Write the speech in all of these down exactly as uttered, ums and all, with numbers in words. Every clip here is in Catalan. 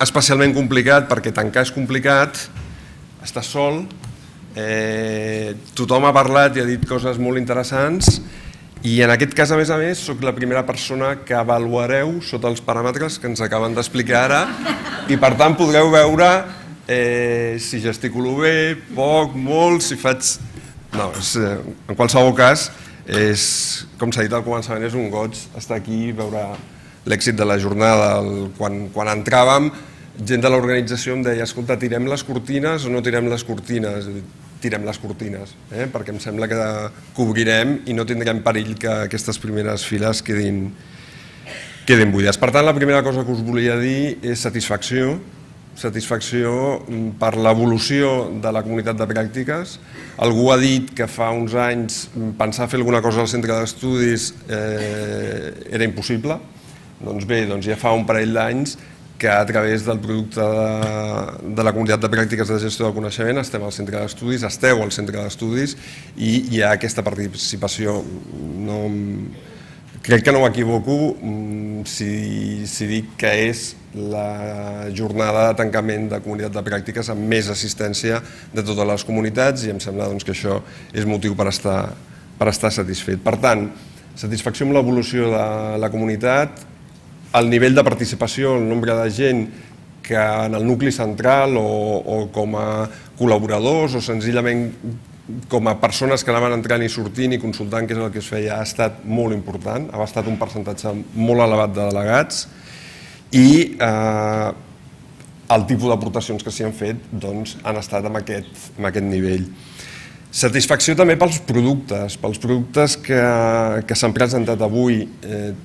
especialment complicat perquè tancar és complicat, estàs sol, tothom ha parlat i ha dit coses molt interessants i en aquest cas, a més a més, soc la primera persona que avaluareu sota els paràmetres que ens acaben d'explicar ara i per tant podreu veure si gesticulo bé, poc, molt, si faig... No, en qualsevol cas, com s'ha dit al començament, és un goig estar aquí i veure l'èxit de la jornada. Quan entràvem, gent de l'organització em deia, escolta, tirem les cortines o no tirem les cortines? Tirem les cortines, perquè em sembla que cobrirem i no tindrem perill que aquestes primeres files quedin buides. Per tant, la primera cosa que us volia dir és satisfacció, satisfacció per l'evolució de la comunitat de pràctiques. Algú ha dit que fa uns anys pensar fer alguna cosa al centre d'estudis era impossible. Doncs bé, ja fa un parell d'anys que a través del producte de la comunitat de pràctiques de gestió del coneixement estem al centre d'estudis, esteu al centre d'estudis i hi ha aquesta participació. Crec que no m'equivoco si dic que és la jornada de tancament de comunitat de pràctiques amb més assistència de totes les comunitats i em sembla que això és motiu per estar satisfet. Per tant, satisfacció amb l'evolució de la comunitat, el nivell de participació, el nombre de gent que en el nucli central o com a col·laboradors o senzillament com a persones que anaven entrant i sortint i consultant què és el que es feia ha estat molt important, ha estat un percentatge molt elevat de delegats i el tipus d'aportacions que s'hi han fet han estat en aquest nivell. Satisfacció també pels productes, pels productes que s'han presentat avui,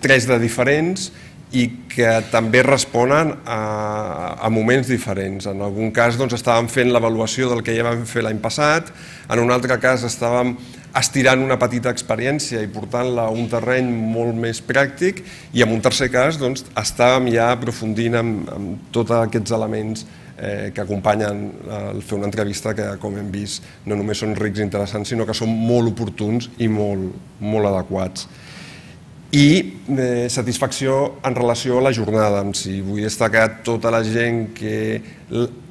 tres de diferents, i que també responen a moments diferents. En algun cas estàvem fent l'avaluació del que ja vam fer l'any passat, en un altre cas estàvem estirant una petita experiència i portant-la a un terreny molt més pràctic i en un tercer cas estàvem ja aprofundint en tots aquests elements que acompanyen el fer una entrevista que, com hem vist, no només són rics i interessants, sinó que són molt oportuns i molt adequats. I satisfacció en relació a la jornada en si. Vull destacar tota la gent que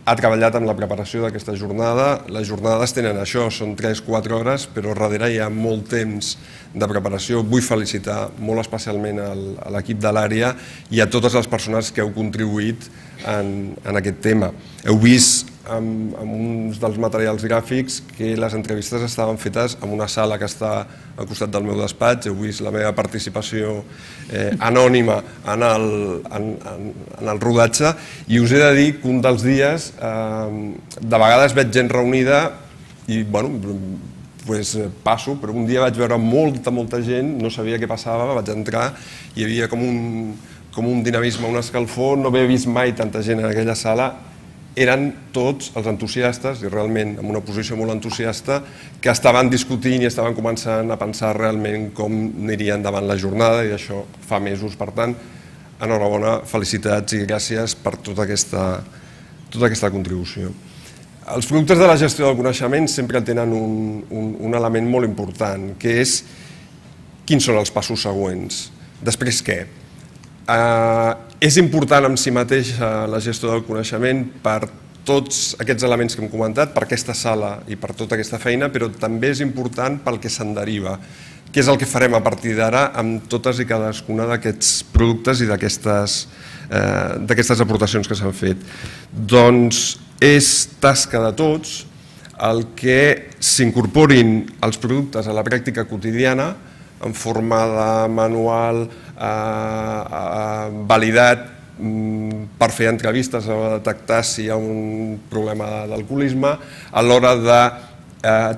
ha treballat en la preparació d'aquesta jornada. Les jornades tenen això, són tres a quatre hores, però darrere hi ha molt temps de preparació. Vull felicitar molt especialment a l'equip de l'àrea i a totes les persones que heu contribuït en aquest tema. Heu vist en uns dels materials gràfics que les entrevistes estaven fetes en una sala que està al costat del meu despatx. Heu vist la meva participació anònima en el rodatge i us he de dir que un dels dies de vegades veig gent reunida i passo, però un dia vaig veure molta, molta gent, no sabia què passava, vaig entrar i hi havia com un dinamisme, un escalfor, no havia vist mai tanta gent en aquella sala. Eren tots els entusiastes, i realment en una posició molt entusiasta, que estaven discutint i estaven començant a pensar realment com aniria endavant la jornada i això fa mesos. Per tant, enhorabona, felicitats i gràcies per tota aquesta contribució. Els productes de la gestió del coneixement sempre tenen un element molt important, que és quins són els passos següents. Després què? És important en si mateixa la gestió del coneixement per tots aquests elements que hem comentat, per aquesta sala i per tota aquesta feina, però també és important pel que se'n deriva. Què és el que farem a partir d'ara amb totes i cadascuna d'aquests productes i d'aquestes aportacions que s'han fet? Doncs és tasca de tots el que s'incorporin els productes a la pràctica quotidiana en forma de manual validat per fer entrevistes o detectar si hi ha un problema d'alcoholisme, a l'hora de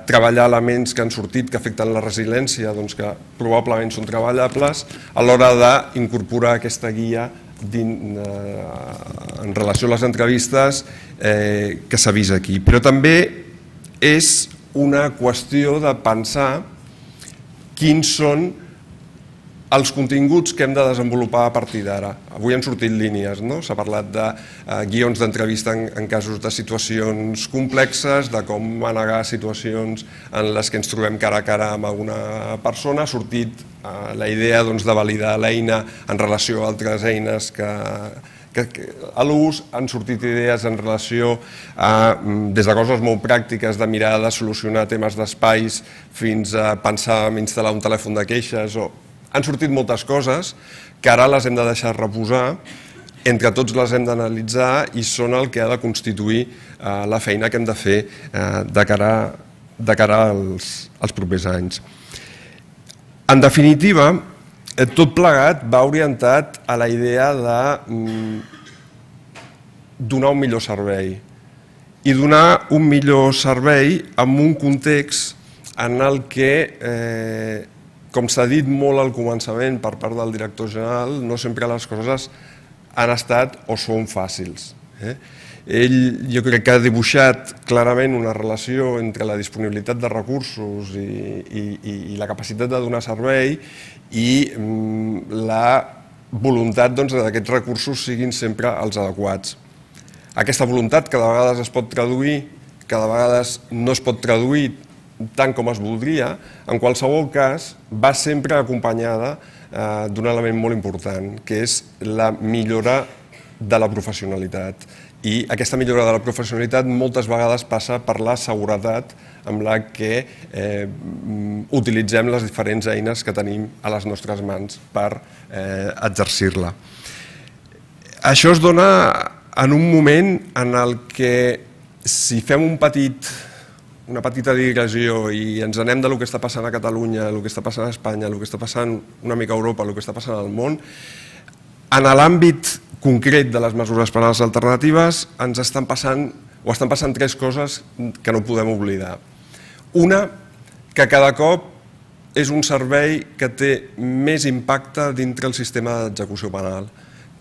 treballar elements que han sortit que afecten la resiliència, que probablement són treballables, a l'hora d'incorporar aquesta guia en relació a les entrevistes que s'ha vist aquí. Però també és una qüestió de pensar quins són els continguts que hem de desenvolupar a partir d'ara. Avui han sortit línies, s'ha parlat de guions d'entrevista en casos de situacions complexes, de com manegar situacions en les que ens trobem cara a cara amb alguna persona. Ha sortit la idea de validar l'eina en relació a altres eines que a l'ús, han sortit idees en relació a, des de coses molt pràctiques de mirar de solucionar temes d'espais fins a pensar en instal·lar un telèfon de queixes. Han sortit moltes coses que ara les hem de deixar reposar, entre tots les hem d'analitzar i són el que ha de constituir la feina que hem de fer de cara als propers anys. En definitiva, tot plegat va orientat a la idea de donar un millor servei i donar un millor servei en un context en el que, com s'ha dit molt al començament per part del director general, no sempre les coses han estat o són fàcils. Ell, jo crec que ha dibuixat clarament una relació entre la disponibilitat de recursos i la capacitat de donar servei i la voluntat que aquests recursos siguin sempre els adequats. Aquesta voluntat que de vegades es pot traduir, que de vegades no es pot traduir tant com es voldria, en qualsevol cas va sempre acompanyada d'un element molt important, que és la millora de la professionalitat. I aquesta millora de la professionalitat moltes vegades passa per la seguretat amb la que utilitzem les diferents eines que tenim a les nostres mans per exercir-la. Això es dona en un moment en el que, si fem un petit, una petita digressió i ens anem del que està passant a Catalunya, el que està passant a Espanya, el que està passant una mica a Europa, el que està passant al món, en l'àmbit concret de les mesures penals alternatives ens estan passant o estan passant tres coses que no podem oblidar. Una, que cada cop és un servei que té més impacte dintre el sistema d'execució penal.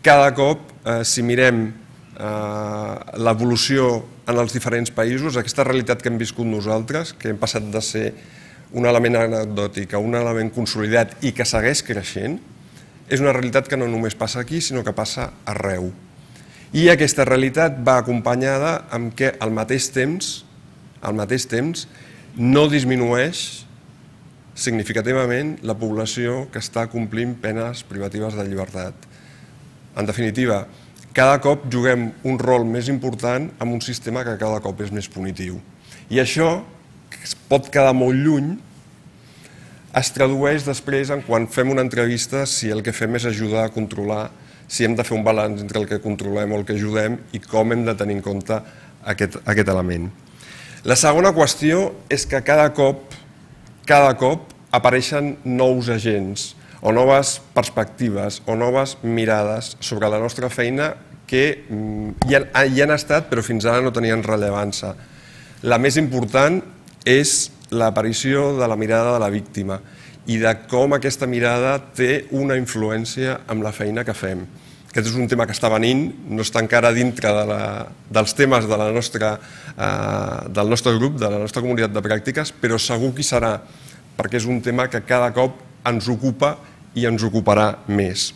Cada cop, si mirem l'evolució en els diferents països, aquesta realitat que hem viscut nosaltres, que hem passat de ser un element anecdòtic a un element consolidat i que segueix creixent, és una realitat que no només passa aquí, sinó que passa arreu. I aquesta realitat va acompanyada amb que al mateix temps, al mateix temps, no disminueix significativament la població que està complint penes privatives de llibertat. En definitiva, cada cop juguem un rol més important en un sistema que cada cop és més punitiu. I això, que es pot quedar molt lluny, es tradueix després en quan fem una entrevista si el que fem és ajudar a controlar, si hem de fer un balanç entre el que controlem o el que ajudem i com hem de tenir en compte aquest element. La segona qüestió és que cada cop, cada cop apareixen nous agents o noves perspectives o noves mirades sobre la nostra feina que hi han estat però fins ara no tenien rellevància. La més important és l'aparició de la mirada de la víctima i de com aquesta mirada té una influència en la feina que fem. Aquest és un tema que està venint, no està encara dintre dels temes del nostre grup, de la nostra comunitat de pràctiques, però segur que hi serà, perquè és un tema que cada cop ens ocupa i ens ocuparà més.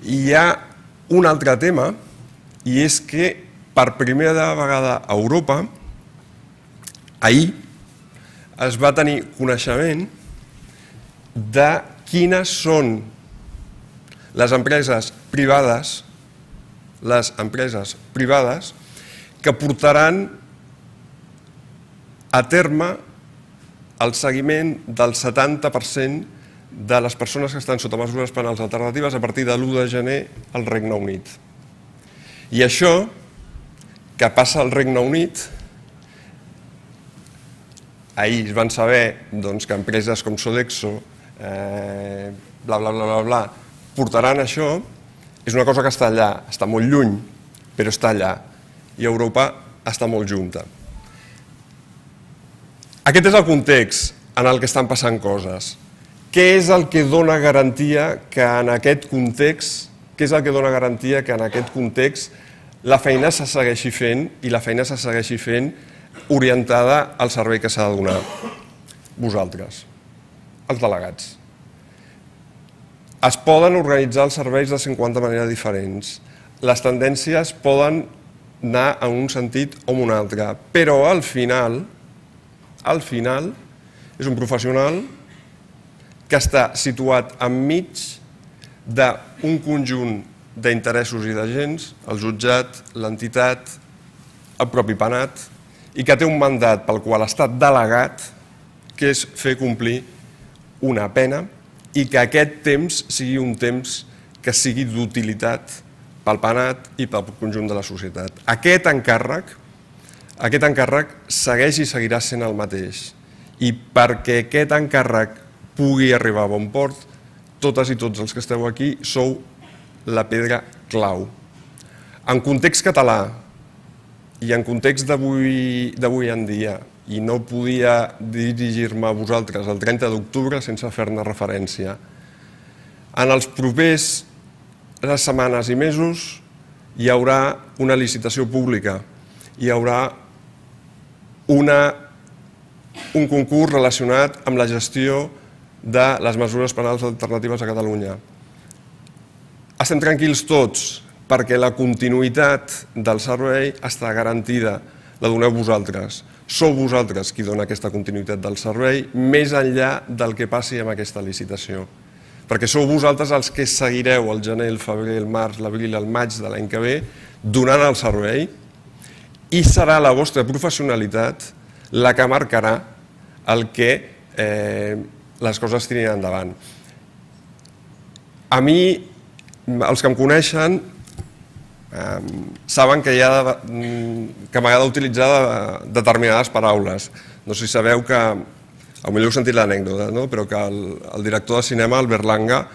I hi ha un altre tema, i és que per primera vegada a Europa, ahir, es va tenir coneixement de quines són les empreses privades, les empreses privades que portaran a terme el seguiment del setanta per cent de les persones que estan sota mesures penals alternatives a partir de l'u de gener al Regne Unit. I això, que passa al Regne Unit, ahir es van saber que empreses com Sodexo, bla, bla, bla, bla, bla, portaran això, és una cosa que està allà, està molt lluny, però està allà, i Europa està molt junta. Aquest és el context en el que estan passant coses. Què és el que dona garantia que en aquest context, què és el que dona garantia que en aquest context la feina se segueixi fent i la feina se segueixi fent orientada al servei que s'ha de donar? Vosaltres, els delegats. Es poden organitzar els serveis de cinquanta maneres diferents. Les tendències poden anar en un sentit o en un altre, però al final, al final, és un professional que està situat enmig d'un conjunt d'interessos i d'agents, el jutjat, l'entitat, el propi penat, i que té un mandat pel qual ha estat delegat, que és fer complir una pena i que aquest temps sigui un temps que sigui d'utilitat pel penat i pel conjunt de la societat. Aquest encàrrec, aquest encàrrec segueix i seguirà sent el mateix. I perquè aquest encàrrec pugui arribar a bon port, totes i tots els que esteu aquí sou la pedra clau. En context català i en context d'avui en dia, i no podia dirigir-me a vosaltres el trenta d'octubre sense fer-ne referència, en els propers setmanes i mesos hi haurà una licitació pública, hi haurà una, un concurs relacionat amb la gestió de les mesures penals alternatives a Catalunya. Estem tranquils tots perquè la continuïtat del servei està garantida, la doneu vosaltres. Sou vosaltres qui dona aquesta continuïtat del servei més enllà del que passi amb aquesta licitació. Perquè sou vosaltres els que seguireu el gener, el febrer, el març, l'abril, el maig de l'any que ve donant el servei i serà la vostra professionalitat la que marcarà el que les coses tirin endavant. A mi, els que em coneixen, saben que m'agrada utilitzar determinades paraules. No sé si sabeu que, potser heu sentit l'anècdota, però que el director de cinema, el Berlanga,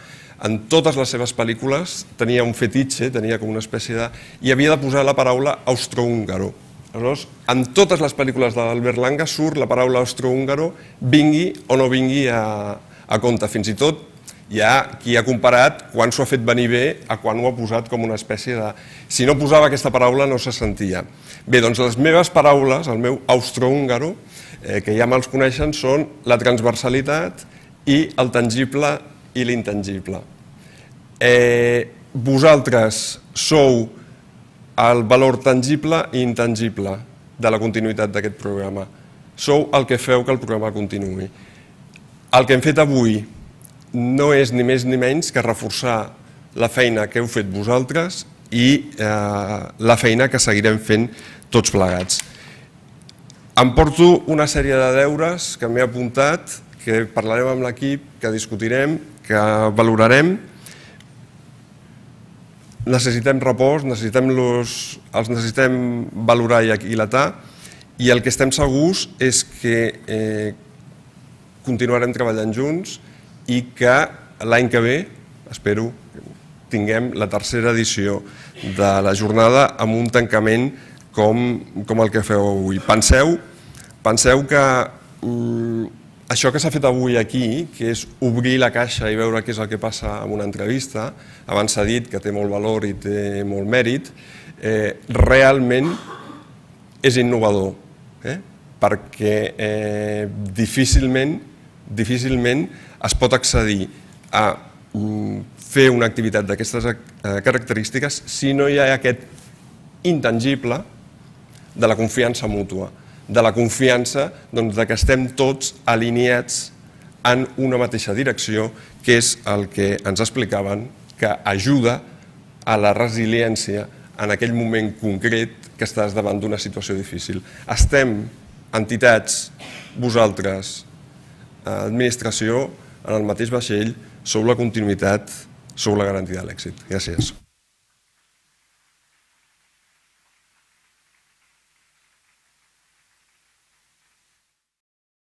en totes les seves pel·lícules tenia un fetitxe, tenia com una espècie de... i havia de posar la paraula austrohúngaro. Aleshores, en totes les pel·lícules de l'Albert surt la paraula austrohúngaro, vingui o no vingui a compte. Fins i tot hi ha qui ha comparat quan s'ho ha fet venir bé a quan ho ha posat com una espècie de... Si no posava aquesta paraula no se sentia. Bé, doncs les meves paraules, el meu austrohúngaro, que ja me'ls coneixen, són la transversalitat i el tangible i l'intangible. Vosaltres sou el valor tangible i intangible de la continuïtat d'aquest programa. Sou el que feu que el programa continuï. El que hem fet avui no és ni més ni menys que reforçar la feina que heu fet vosaltres i la feina que seguirem fent tots plegats. Em porto una sèrie de deures que m'he apuntat, que parlarem amb l'equip, que discutirem, que valorarem. Necessitem repòs, els necessitem valorar i aquilatar, i el que estem segurs és que continuarem treballant junts i que l'any que ve, espero, tinguem la tercera edició de la jornada amb un tancament com el que feu avui. Penseu, penseu que això que s'ha fet avui aquí, que és obrir la caixa i veure què és el que passa en una entrevista, abans s'ha dit que té molt valor i té molt mèrit, realment és innovador, perquè difícilment difícilment es pot accedir a fer una activitat d'aquestes característiques si no hi ha aquest intangible de la confiança mútua, de la confiança que estem tots alineats en una mateixa direcció, que és el que ens explicaven, que ajuda a la resiliència en aquell moment concret que estàs davant d'una situació difícil. Estem, entitats, vosaltres, administració, en el mateix vaixell, sou la continuïtat, sou la garantia de l'èxit. Gràcies.